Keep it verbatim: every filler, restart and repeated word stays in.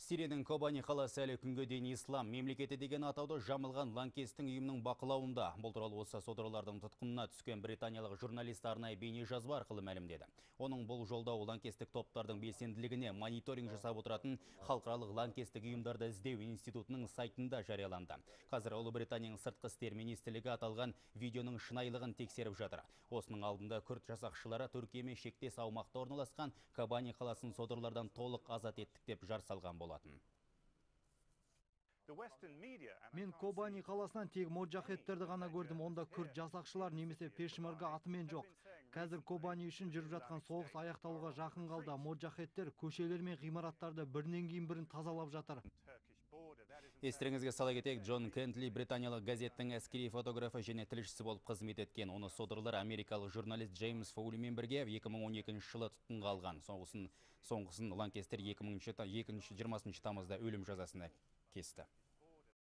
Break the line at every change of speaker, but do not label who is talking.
Сирияның Кобани қаласы әлі күнге дейін ислам мемлекеті деген атауды жамылған лаңкестің ұйымның бақылауында. Бұл туралы осы содырлардың тұтқынына түскен британиялық журналист арнайы бейне жазба арқылы мәлімдеді. Оның бұл жолдауы лаңкестік топтардың белсенділігіне мониторинг жасап отыратын халықаралық лаңкестік ұйымдарды іздеу институтының сайтында жарияланды. Қазір Ұлыбританияның сыртқы істер министрлігі аталған видеоның шынайылығын тексеріп жатыр. Осының алдында күрд жасақшылары Түркиямен шектес аумақта орналасқан Кобани қаласын содырлардан толық азат еттік деп жар салған болатын.
Мен Кобани қаласынан тек моджахеттерді ғана көрдім. Онда күрд жасақшылар немесе пешмерга атымен жоқ. Қазір Кобани үшін жүріп жатқан соғыс аяқталуға жақын қалды. Моджахеттер көшелер мен ғимараттарды бірінен кейін бірін тазалап жатыр.
Естеріңізге сала кетейік, Джон Кентли британиялық газеттің әскери фотографы және тілшісі болып қызмет еткен. Оны содырлар америкалық журналист Джеймс Фоулимен бірге екі мың он екінші жылы тұтқынға алған. Соңғысын, соңғысын лаңкестер екі мың жиырмасыншы тамызда өлім жазасына кесті.